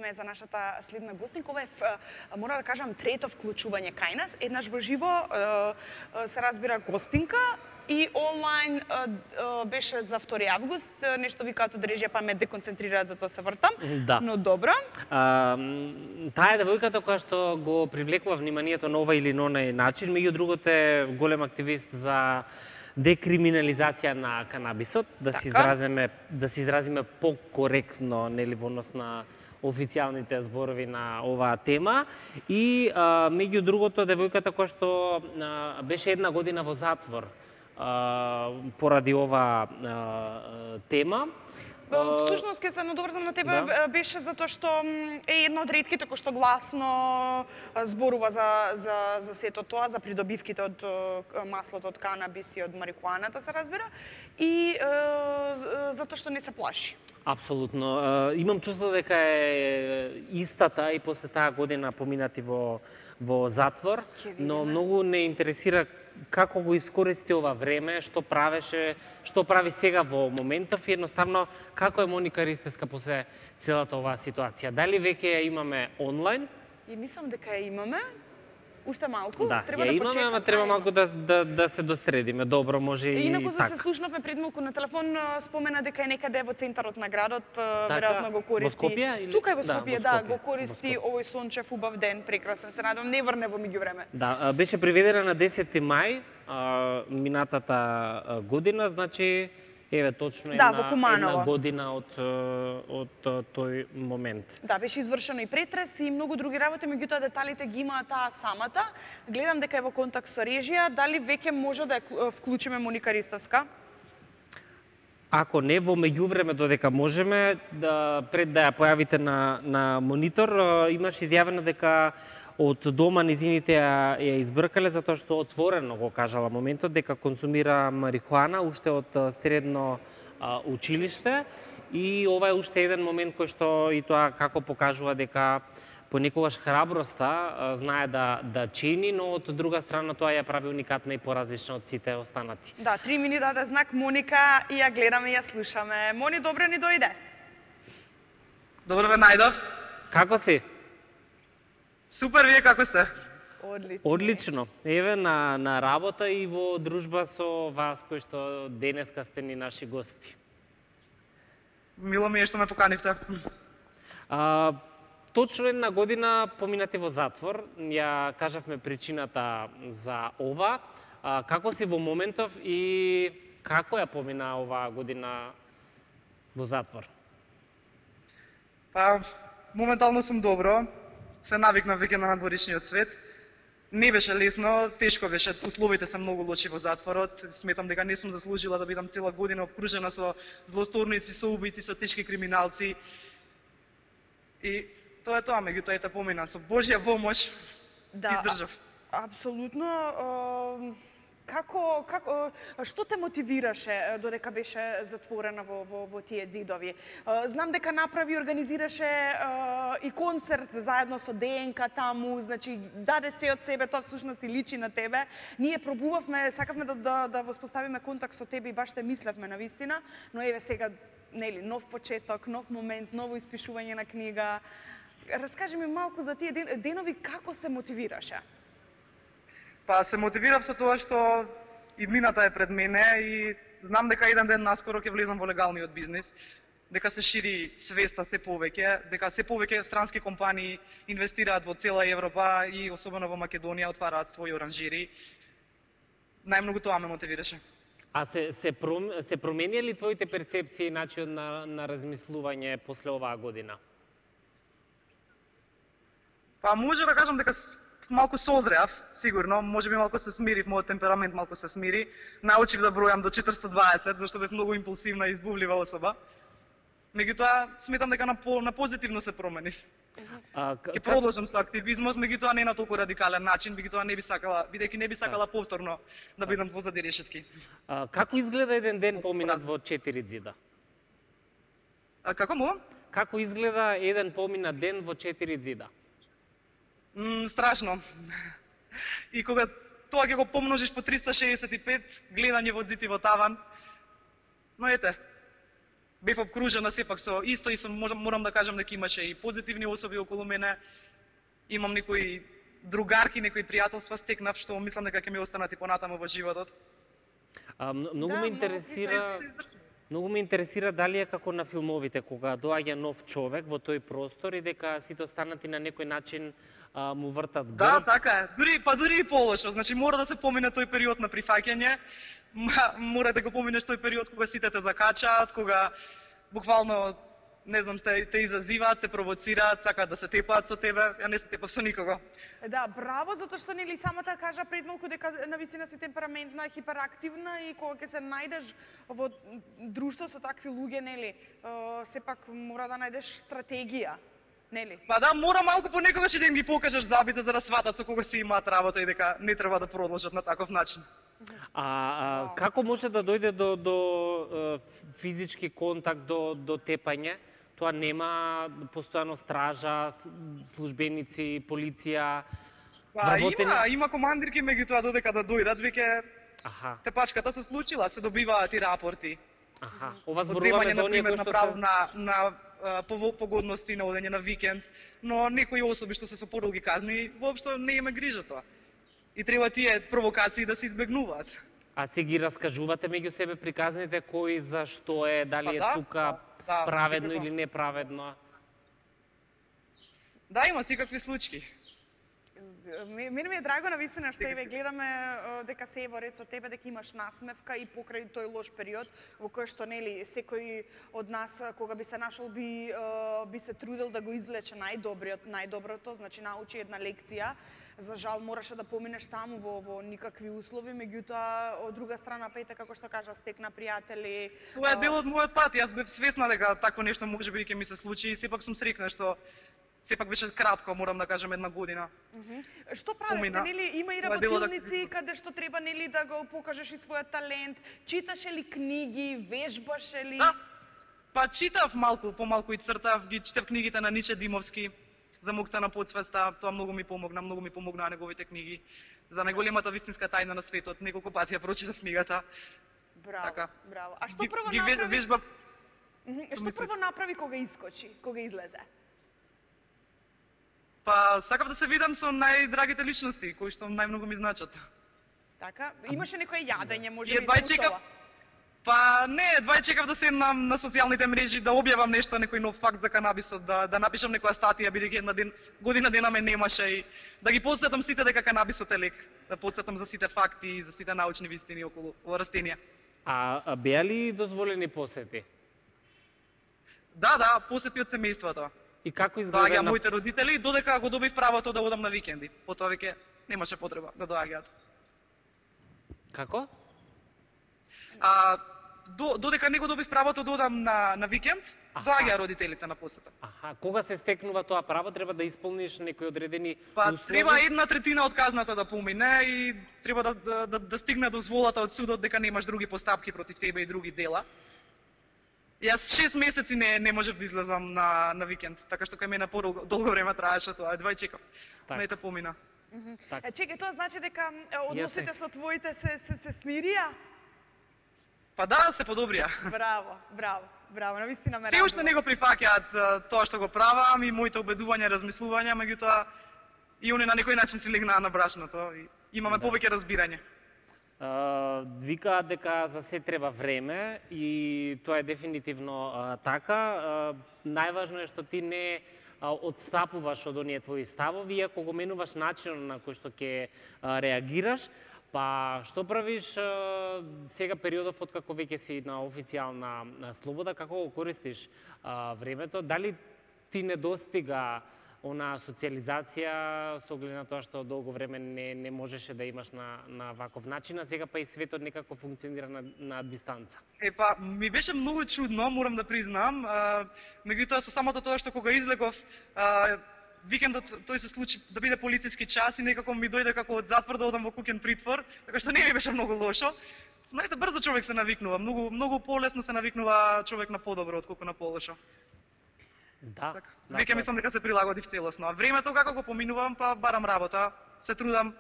време за нашата следна гостинка. Ова е, мора да кажам, трето вклучување кај нас. Еднаш во живо се разбира гостинка и онлайн беше за 2 август. Нешто викаат од режија па ме деконцентрираат, затоа се вртам. Да. Но добро. Таа е девојката која што го привлекува вниманието на овој или на оној начин. Меѓу другото е голем активист за декриминализација на канабисот, да се изразиме покоректно, нели, во однос на официјалните зборови на оваа тема. И меѓу другото девојката која што беше 1 година во затвор поради оваа тема. Всушност, ке се надоврзам на тебе, беше затоа што е една од ретките кој што гласно зборува за сето тоа, за придобивките од маслото од канабис и од марихуаната, се разбира, и затоа што не се плаши. Апсолутно. Имам чувство дека е истата и после таа година поминати во затвор, но многу не интересира како го искористи ова време, што прави сега во моментов и едноставно како е Моника Ристевска после целата оваа ситуација. Дали веќе ја имаме онлайн? И мислам дека ја имаме. Уште малку, да, треба да имаме, ама треба малку да се достредиме. Добро, може и инаку така. За се слушнавме пред малку на телефон, спомена дека е некаде во центарот на градот, веројатно го користи. Во Скопје или? Тука е во Скопје, да, го користи овој сончев убав ден, прекрасен. Се надам не врне во меѓувреме. Да, беше приведена на 10 мај минатата година, значи еве точно една година од тој момент. Да, беше извршено и претрес и многу други работи, меѓутоа деталите ги имаа таа самата. Гледам дека е во контакт со режија, дали веќе може да ја вклучиме Моника Ристевска? Ако не, во меѓувреме додека можеме, пред да ја појавите на монитор, имаш изјавено дека од дома низините ја избркале затоа што отворено го кажала моментот дека консумира марихуана уште од средно училиште и ова е уште еден момент кој што и тоа како покажува дека понекогаш храброста знае да чини, но од друга страна тоа ја прави уникатна и поразлична од сите останати. Да, 3 ми даде знак Моника и ја гледаме и ја слушаме. Мони, добро ни дојде. Добро ве најдов. Како си? Супер, вие како сте? Одлично. Одлично. Еве на работа и во дружба со вас кои што денеска сте ни наши гости. Мило ми е што ме поканивте. Точно 1 година поминати во затвор. Ја кажавме причината за ова. Како си во моментов и како ја помина оваа година во затвор? Па, моментално сум добро. Се навикнав веќе на надворишниот свет. Не беше лесно, тешко беше, условите се многу лоши во затворот. Сметам дека не сум заслужила да бидам цела година обкружена со злосторници, со убици, со тешки криминалци. И тоа е тоа, меѓутоа ете помина со Божја помош, издржав. Апсолутно. Што те мотивираше додека беше затворена во тие ѕидови? Знам дека направи, организираше и концерт заедно со ДНК таму, значи даде се од себе, тоа всушност и личи на тебе. Ние пробувавме, сакавме да воспоставиме контакт со тебе и баш те мислевме навистина, но еве сега, нели, нов почеток, нов момент, ново испишување на книга. Раскажи ми малку за тие денови, како се мотивираше? Па се мотивирав со тоа што иднината е пред мене и знам дека еден ден наскоро ќе влезам во легалниот бизнис, дека се шири свеста се повеќе, дека се повеќе странски компании инвестираат во цела Европа и особено во Македонија отвараат своји оранжери. Најмногу тоа ме мотивираше. А се промени ли твоите перцепции и начин на размислување после оваа година? Па може да кажам дека малку созреав, сигурно, можеби малку се смирив, мојот темперамент малку се смири. Научив да бројам до 420, зашто бев многу импулсивна и избувлива особа. Меѓутоа, сметам дека на позитивно се променив. Ќе продолжам со активизмот, меѓутоа не на толку радикален начин, бидејќи не би сакала повторно да бидам позади решетки. Како изгледа еден ден поминат во 4 ѕида? Како му? Како изгледа еден поминат ден во 4 ѕида? Страшно. И кога тоа ќе го помножиш по 365, гледање во ѕид и во таван, но ете, бев обкружена сепак со исто и морам да кажам дека имаше и позитивни особи околу мене. Имам некои другарки, некои пријателства стекнав што мислам дека ќе ми останат и понатаму во животот. Многу Да, ме многу интересира, многу ме интересира дали е како на филмовите кога доаѓа нов човек во тој простор и дека сите останати на некој начин му вртат Да, грб. така е. Дури и полошо. Значи мора да се помине тој период на прифаќање. Мора да го поминеш тој период кога сите те закачаат, кога буквално не знам, те изазиваат, те провоцираат, сакаат да се тепаат со тебе. Ја не се тепав со никого. Да, браво, затоа што нели самата кажа пред малку дека навистина си темпераментна, хиперактивна и кога ќе се најдеш во друштво со такви луѓе, нели, сепак мора да најдеш стратегија, нели? Па да, мора малку понекогаш и да им ги покажеш забите за да сватат со кого си имаат работа и дека не треба да продолжат на таков начин. Како може да дојде до физички контакт, до тепање? Тоа нема постојано стража, службеници, полиција, Па има командирки, меѓутоа додека да дојдат веќе тепачката се случила, се добиваат и рапорти. Ова зборуваме за оние кои што се на погодности на одење на викенд, но некои особи што се со подолги казни, воопшто не има грижа тоа. И треба тие провокации да се избегнуваат. А се ги раскажувате меѓу себе приказните кој за што е, дали е тука праведно или неправедно? Да, има секакви случаи. Мене ми е драго навистина што еве гледаме дека се во ред со тебе, дека имаш насмевка и покрај тој лош период во кој што нели секој од нас кога би се нашол би се трудел да го излече најдоброто, значи научи една лекција. За жал мораше да поминеш таму во никакви услови, меѓутоа од друга страна пајте како што кажа стекна пријатели. Тоа е дел од мојот пат, јас бев свесна дека такво нешто можеби ќе ми се случи и сепак сум среќна што сепак беше кратко, морам да кажам, една година. Што правите, нели, има и работилници каде што треба, нели, да го покажеш и својот талент, читаше ли книги, вежбаше ли? Да, па читав помалку и цртав, ги читав книгите на Ниче Димовски, за мукта на подсвеста, тоа многу ми помогнаа неговите книги. За најголемата вистинска тајна на светот, неколку пати ја прочитав книгата. Браво, браво. А што прво направи? Што прво направи кога искочи, кога излезе? Па, сакав да се видам со најдрагите личности, кои што најмногу ми значат. Така, имаше некој јадење, може би се устава? Па не, едва чекав да седнам на социјалните мрежи, да објавам нешто, некој нов факт за канабисот, да напишам некоја статија, бидејќи година дена ме немаше и да ги потсетам сите дека канабисот е лек, да потсетам за сите факти и за сите научни вистини околу ова растение. А беа ли дозволени посети? Да, посети од семејството. И како изгледа доаѓаа моите родители, додека го добив правото да одам на викенди. Потоа веќе немаше потреба да доаѓаат. Како? Додека не го добив правото да одам на викенд, доаѓаа родителите на посета. Кога се стекнува тоа право, треба да исполниш некои одредени услови? Треба 1/3 од казната да помине и треба да стигне дозволата од судот дека немаш други постапки против тебе и други дела. Јас 6 месеци не можев да излезам на викенд, така што кај мене подолго време траеше тоа, едва чекав. Не те помина. Чекај, тоа значи дека односите со твоите се смирија? Па да, се подобрија. Браво, навистина ме радува. Се уште не го прифаќаат тоа што го правам и моите обедувања и размислувања, меѓутоа и они на некој начин се легнаа на брашното и имаме повеќе разбирање. Викаат дека за се треба време и тоа е дефинитивно така. Најважно е што ти не одстапуваш од оние твои ставови, ако го менуваш начинот на кој што ќе реагираш. Па што правиш сега периодов откако веќе си на официјална слобода, како го користиш времето? Дали ти недостига она социализација со оглед на тоа што долго време не можеше да имаш на ваков начин, а сега па и светот некако функционира на дистанца? Па ми беше многу чудно, морам да признам, меѓутоа со самото тоа што кога излегов викендот тој се случи да биде полициски час и некако ми дојде како од затвор да одам во куќен притвор, така што не ми беше многу лошо. Но ете брзо човек се навикнува, многу полесно се навикнува човек на подобро отколку на полошо. Да. Веќе мислам дека се прилагодив целосно. А времето како го поминувам, па барам работа, се трудам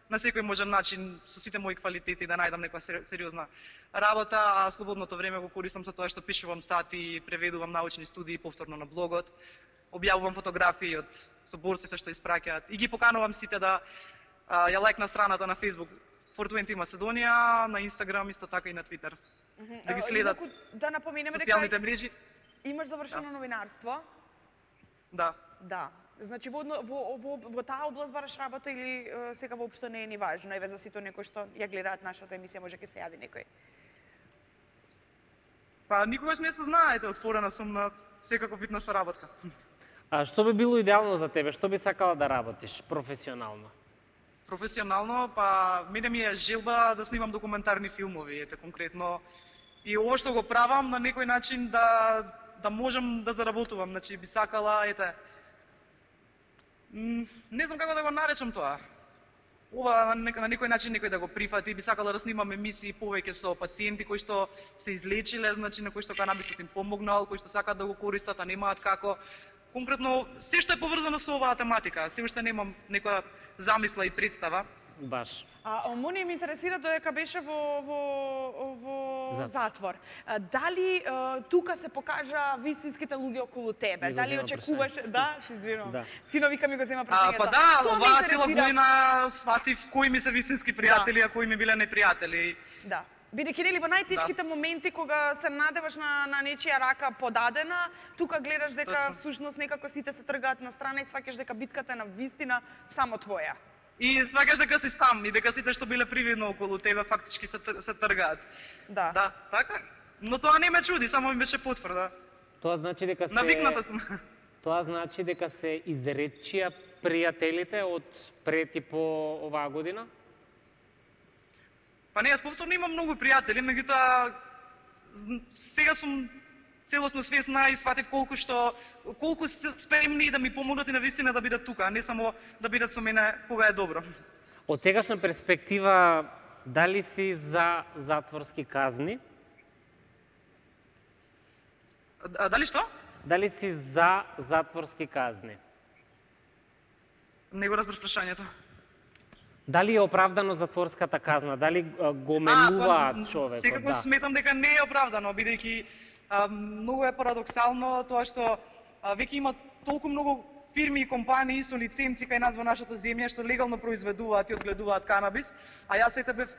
на секој можен начин со сите мои квалитети да најдам некоја сериозна работа, а слободното време го користам со тоа што пишувам статии, преведувам научни студии повторно на блогот, објавувам фотографии од соборците што испраќаат и ги поканувам сите да ја лајкна страната на Facebook 420 Македонија, на Instagram исто така и на Twitter. Да ги следат Да напоменеме социјалните дека мрежи. имаш завршено новинарство. Да. Да. Значи во таа област бараш работа или сега воопшто не е ни важно, еве за сите некои што ја гледаат нашата емисија, може ќе се јави некој. Па никогаш не се знаете, отворена сум на секаков вид на соработка. А што би било идеално за тебе? Што би сакала да работиш професионално? Професионално, па мене ми е желба да снимам документарни филмови, ете конкретно. И ово што го правам на некој начин да можам да заработувам, значи би сакала, ете, не знам како да го наречам тоа. Ова на некој начин некој да го прифати, би сакала да снимам емисии повеќе со пациенти кои што се излечиле, значи на кои што канабисот им помогнал, кои што сакаат да го користат, а немаат како. Конкретно, се што е поврзано со оваа тематика, се уште немам некоја замисла и представа. Баш. Мони ме интересира додека беше во затвор. Дали тука се покажа вистинските луѓе околу тебе? Дали очекуваше? Да, се извинувам. Да. Тино вика ми го зема прашањето. Па да, оваа цела година сватив кои ми се вистински пријатели, а кои ми биле непријатели. Да. Бидејќи нели во најтешките моменти кога се надеваш на нечија рака подадена, тука гледаш дека всушност некако сите се тргаат на страна и сваќаш дека битката е на вистина само твоја. И сваќаш дека си сам и дека сите што биле привидно околу тебе фактички се тргаат. Да. Да, така. Но тоа не ме чуди, само ми беше потврда. Тоа значи дека се Навикната сум. Тоа значи дека се изречија пријателите од пред и по оваа година? Па не, јас повторно имам многу пријатели, меѓутоа сега сум целосно свесна и сватив колку се спремни да ми помогнат и на вистина да бидат тука, а не само да бидат со мене кога е добро. Од сегашна перспектива, дали си за затворски казни? Дали што? Дали си за затворски казни? Не го разбрав прашањето. Дали е оправдано затворската казна? Дали го менуваат човекот? Секако сметам дека не е оправдано, бидејќи многу е парадоксално тоа што веќе има толку многу фирми и компании со лиценци кај нас во нашата земја што легално произведуваат и одгледуваат канабис, а јас ете бев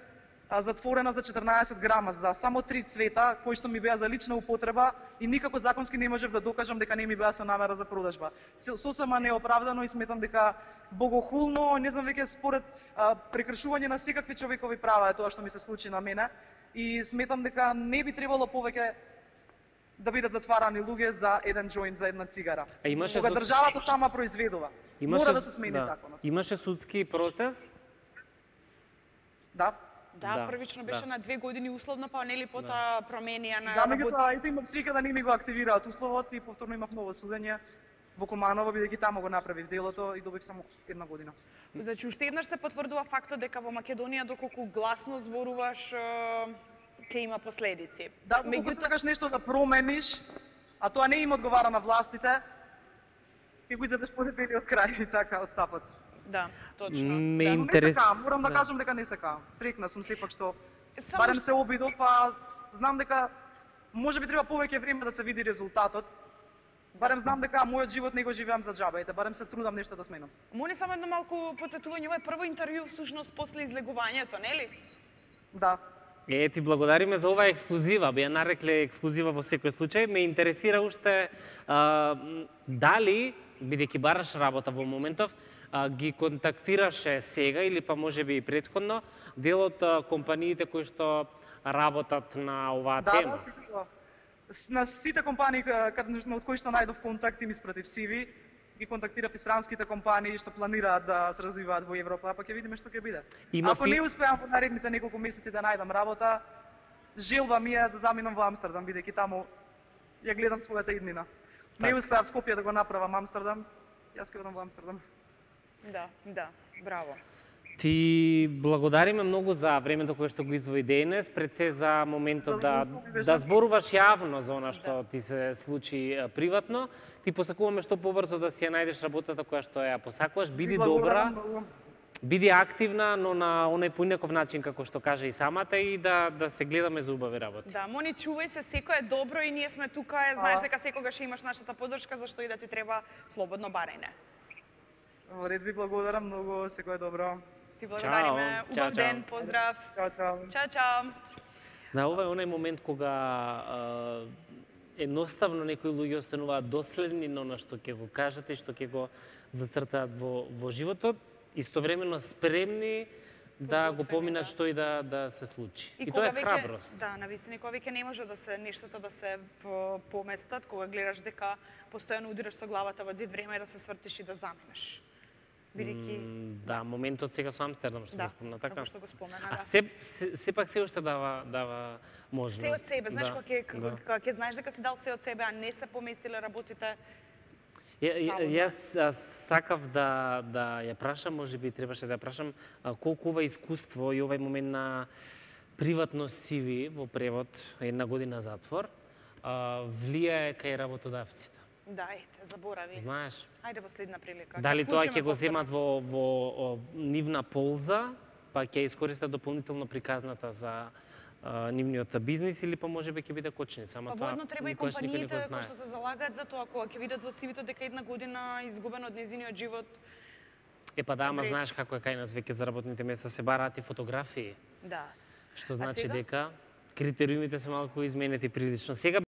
затворена за 14 грама за само 3 цвета кои што ми беа за лична употреба и никако законски не можев да докажам дека не ми беа со намера за продажба. Сосема неоправдано и сметам дека богохулно, не знам веќе според прекршување на секакви човекови права е тоа што ми се случи на мене и сметам дека не би требало повеќе да бидат затварани луѓе за еден џоинт, за една цигара. Кога државата сама произведува, мора да се смени законот. Имаше судски процес? Да. Да, првично беше на 2 години условно, па нели потоа променија на Да, меѓутоа ете имав среќа да не ми го активираат условот и повторно имав ново судење во Куманово, бидејќи таму го направив делото и добив само 1 година. Значи уште еднаш се потврдува фактот дека во Македонија доколку гласно зборуваш ќе има последици. Да, кога сакаш нешто да промениш, а тоа не им одговара на властите, ќе го изедеш подебелиот крај така од стапот. Да, точно. Морам да кажам дека не сакам. Среќна сум сепак што барем се обидов, а знам дека можеби треба повеќе време да се види резултатот. Барем знам дека мојот живот не го живеам за џаба, ете барем се трудам нешто да сменам. Моне само едно малку потсетување, ова е прво интервју всушност после излегувањето, нели? Да. Ти благодариме за оваа ексклузива, би ја нарекле ексклузива во секој случај. Ме интересира уште дали, бидејќи бараш работа во моментов, ги контактираше сега или па можеби и претходно дел од компаниите кои што работат на оваа тема? Да, на сите компании од кои што најдов контакти ми испратив CV, ги контактирав и странските компании што планираат да се развиваат во Европа, па ќе видиме што ќе биде. Ако не успеам во наредните неколку месеци да најдам работа, желба ми е да заминам во Амстердам, бидејќи таму ја гледам својата иднина. Не успеав Скопје да го направам Амстердам, јас ќе одам во Амстердам. Да, браво. Ти благодариме многу за времето кое што го издвои денес, пред се за моментот да зборуваш јавно за она што ти се случи приватно. Ти посакуваме што побрзо да си ја најдеш работата која што ја посакуваш. Биди добра. Биди активна, но на оној поинаков начин како што кажа и самата и да се гледаме за убави работи. Да, Мони, чувај се, секој е добро и ние сме тука, знаеш дека секогаш имаш нашата поддршка, зашто и да ти треба слободно барајне. Во ред, ви благодарам многу, секој е добро. Ти благодариме, Чао, убав чао. ден, поздрав. Чао, чао. Чао, чао. Да, ова е оној момент кога едноставно некои луѓе остануваат доследни на она што ќе го кажат и што ќе го зацртаат во животот, истовремено спремни да го поминат што и да се случи. И тоа е храброст. Да, навистина, кога веќе не може да се нештото да се поместат, кога гледаш дека постојано удираш со главата во зид, време е да се свртиш и да заминеш. Бидејќи Да, моментот сега со Амстердам што го спомна, така? како што го спомена, А да. сепак се уште дава можност. Се од себе, знаеш, Да, кога ќе знаеш дека си дал се од себе, а не се поместиле работите. Јас сакав да ја прашам, можеби требаше да ја прашам, колку ова искуство и овај момент на приватност CV во превод, 1 година затвор, влијае кај работодавците. Да, ете, заборави. Знаеш? Ајде во следна прилика. Дали тоа ќе го повторно. земат во нивна полза, па ќе искористат дополнително приказната за нивниот бизнис или па можеби ќе биде кочница, ама Па тоа воедно треба и никогаш никој не го компаниите кои знае. што се залагаат за тоа, кога ќе видат во CV-то дека 1 година изгубена од незиниот живот. Па да, ама Речи. знаеш како е кај нас веќе за работните места се бараат и фотографии, Да. што значи сега? дека критериумите се малку изменети прилично. Сега